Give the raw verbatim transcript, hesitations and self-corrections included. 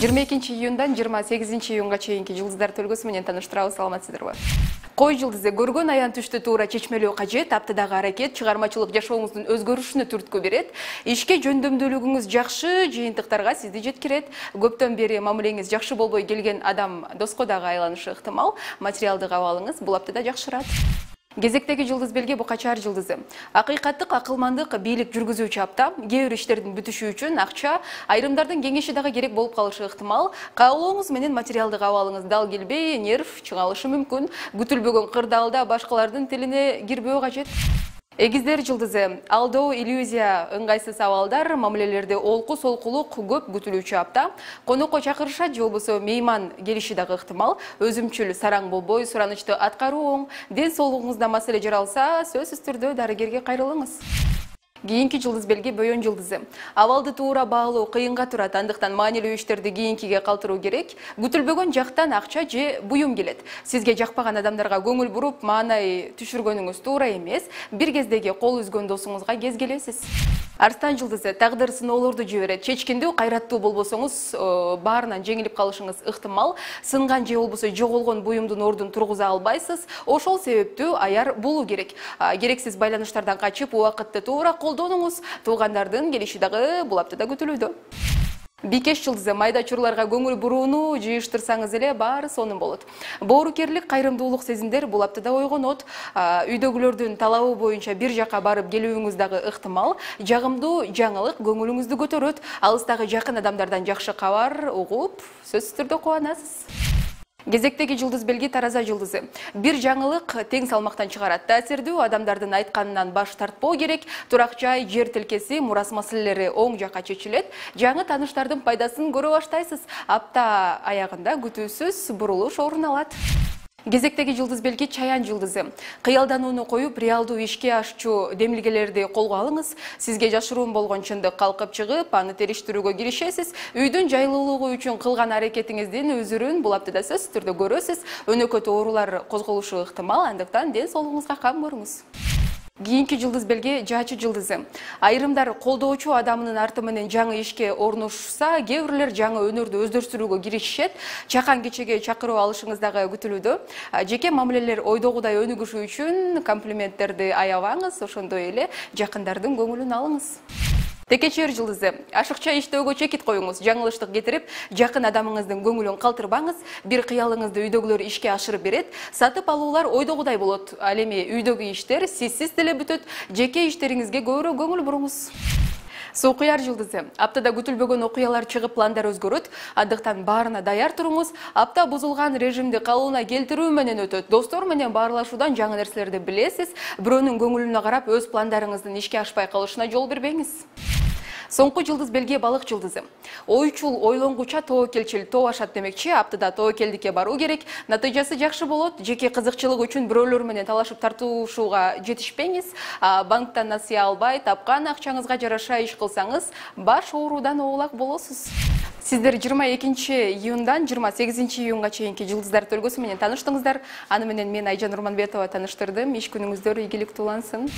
жыйырма экинчи июндан жыйырма сегизинчи июнга чейинки жылдыздар төлгөсү менен тааныштырабыз, саламатсыздарбы? Кой жылдызы көргөн аян түштү туура чечмелөө кажет. Аптадагы аракет чыгармачылык жашооңуздун өзгөрүшүнө түрткү берет. Ишке жөндөмдүүлүгүңүз жакшы, жыйынтыктарга сизди жеткирет. Көптөн бери мамилеңиз жакшы болбой келген адам доско дагы айланышы ыктымал. Материалдык абалыңыз бул аптада жакшырат. Кезектеги жылдыз белги бука чаар жылдызы. Акыйкаттык, акылмандык, бийлик жүргүзүүчү апта. Кээ бир иштердин бүтүшү үчүн акча, айрымдардын кеңеши дагы керек болуп калышы ыктымал. Каалооңуз менен материалдык абалыңыз дал келбей, нерв чыңалышы мүмкүн. Күтүлбөгөн кырдаалда башкалардын тилине кирбөө кажет. Эгиздер жылдызы. Алдоо, иллюзия, ыңгайсыз абалдар, мамилелерде олку солкулук көп күтүлүүчү апта. Конокко чакырышат же болбосо мейман келиши дагы ыктымал. Өзүмчүл сараң болбой, суранычты аткаруу оң. Ден соолугуңузда маселе жаралса, сөзсүз түрдө дарыгерге кайрылыңыз. Кийинки жылдыз белги бөйөн жылдызы. Абалды туура баалоо кыйынга турат, андыктан маанилүү иштерди кийинкиге калтыруу керек. Күтүлбөгөн жактан акча же буюм келет. Сизге жакпаган адамдарга көңүл буруп, маанай түшүргөнүңүз туура эмес. Бир кездеги кол үзгөн досуңузга кез келесиз. Арстан жылдызы. Тагдыр сыноолорду жиберет. Чечкиндүү, кайраттуу болбосоңуз, баарынан жеңилип калышыңыз ыктымал. Сынган же болбосо жоголгон буюмдун ордун тургуза албайсыз. Ошол себептүү аяр болуу керек. Керексиз байланыштардан качып, убакытты туура колдонуңуз. Туугандардын келиши дагы бул аптада күтүлүүдө. Бикеш жылдызы. Майда чурларга көңүл бурууну жыйыштырсаңыз эле баары сонун болот. Боорукерлик, кайрымдуулук сезимдер бул аптада ойгонот. Үйдөгүлөрдүн талабы боюнча бир жака барып келүүңүз дагы ыктымал. Жагымдуу жаңылык көңүлүңүздү көтөрөт. Алыстагы жакын адамдардан жакшы кабар угуп, сөзсүз түрдө кубанасыз. Кезектеги жылдыз белги тараза жылдызы. Бир жаңылык тең салмактан чыгарат. Таасирдүү адамдардын айтканынан баш тартпоо керек. Турак жай, жер тилкеси, мурас маселелери оң жакка чечилет. Жаңы тааныштардын пайдасын көрө баштайсыз. Апта аягында күтүүсүз бурулуш орун алат. Кезектеги жылдыз белги чаян жылдызы. Кыялданууну коюп, реалдуу ишке ашчу демилгелерди колго алыңыз. Сизге жашыруун болгон чындык калкып чыгып, аны териштирүүгө киришесиз. Үйдүн жайлуулугу үчүн кылган аракетиңиздин өзүрүн бул аптада сөзсүз түрдө көрөсүз. Өнөкөт оорулар козголушу ыктымал, андыктан ден соолугуңузга кам көрүңүз. Кийинки жылдыз белги жаачы жылдызы. Айрымдар колдоочу адамынын арты менен жаңы ишке орношса, кээ бирлер жаңы өнөрдү өздөштүрүүгө киришишет. Чакан кечеге чакыруу алышыңыз дагы күтүлүүдө. Жеке мамилелер ойдогудай өнүгүшү үчүн комплименттерди аябаңыз, ошондой эле жакындардын көңүлүн алыңыз. Текечер жылдызы. Ашыкча иштөөгө чекит коюңуз. Жаңылыштык кетирип, жакын адамыңыздын көңүлүн калтырбаңыз. Бир кыялыңызды үйдөгүлөр ишке ашырып берет. Сатып алуулар ойдогудай болот. Ал эми үйдөгү иштер сизсиз деле бүтөт. Жеке иштериңизге көбүрөөк көңүл буруңуз. Суу куяр жылдызы. Аптада күтүлбөгөн окуялар чыгып, пландар өзгөрөт. Андыктан баарына даяр туруңуз. Апта бузулган режимди калыбына келтирүү менен өтөт. Достор менен баарлашуудан жаңы нерселерди билесиз. Бирөөнүн көңүлүнө карап, өз пландарыңыздын ишке ашпай калышына жол бербеңиз. Соңку жылдыз белги балык жылдызы. Ойчул, ойлонгуча, тоокелчил, тоо ашат демекчи. Аптада тоокелдикке баруу керек. Натыйжасы жакшы болот. Жеке кызыкчылык үчүн бирөөлөр менен талашып тартышууга жетишпеңиз. Банктан насыя албай, тапкан акчаңызга жараша иш кылсаңыз, баш оорудан оолак болосуз. Сиздер жыйырма экинчи июндан жыйырма сегизинчи июнга чейинки жылдыздар төлгөсү менен тааныштыңыздар. Аны менен мен Айжан Урманбетова тааныштырдым. Иш күнүңүздөр ийгиликтүү улансын.